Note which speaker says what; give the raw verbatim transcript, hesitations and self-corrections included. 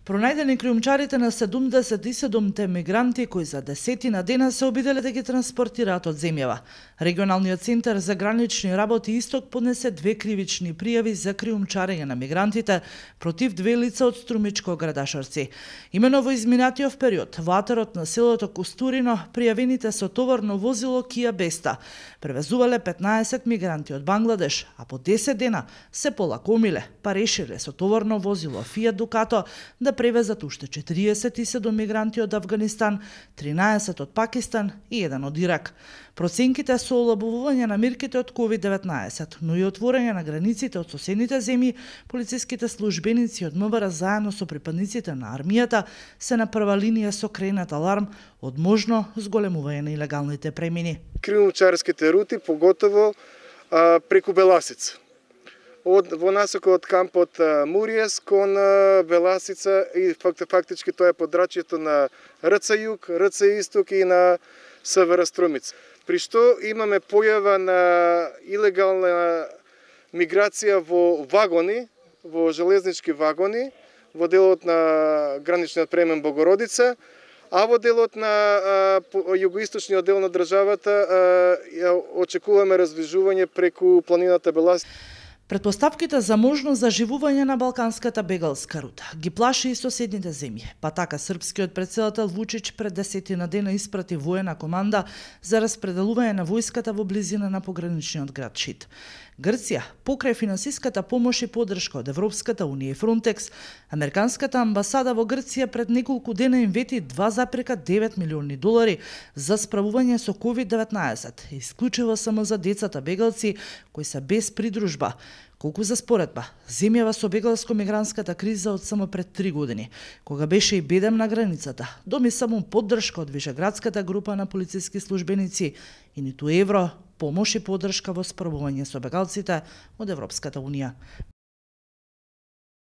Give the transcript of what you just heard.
Speaker 1: Пронајдени криумчарите на седумдесет и седумте мигранти кои за десетина дена се обиделе да ги транспортираат од земјава. Регионалниот центар за гранични работи Исток поднесе две кривични пријави за криумчарење на мигрантите против две лица од Струмичко Градашарци. Имено во изминатиот период во атерот на селото Костурино пријавените со товарно возило Kia Besta превезувале петнаесет мигранти од Бангладеш, а по десет дена се полакомиле, па решиле со товарно возило Fiat Ducato да превезат уште четириесет и седум мигранти од Авганистан, тринаесет од Пакистан и еден од Ирак. Проценките со олабувување на мерките од ковид деветнаесет, но и отворање на границите од соседните земји, полициските службеници од МВР заедно со припадниците на армијата се на прва линија со кренат аларм од можно зголемување на илегалните премини.
Speaker 2: Криумчарските рути, поготово а, преку Беласица. Од, во насока од кампот Муриес кон Беласица и факти, фактички тоа е подрачјето на РЦ Југ, РЦ Исток и на СВР Струмица. При што имаме појава на илегална миграција во вагони, во железнички вагони, во делот на граничниот премен Богородица, а во делот на југоисточниот дел на државата очекуваме раздвижување преку планината Беласица.
Speaker 1: Предпоставките за можно заживување на балканската бегалска рута ги плаши и соседните земји, па така српскиот претседател Вучич пред десетина дена испрати воена команда за распределување на војската во близина на пограничниот град Шид. Грција, покрај финансиската помош и поддршка од Европската унија и Фронтекс, Американската амбасада во Грција пред неколку дена им вети два запирка девет милиони долари за справување со ковид деветнаесет, исклучиво само за децата бегалци кои се без придружба. Колку за споредба, земјава со бегалско-мигрантската криза од само пред три години, кога беше и бедем на границата, доми само поддршка од Вишеградската група на полициски службеници и ниту евро, помош и поддршка во справување со бегалците од Европската унија.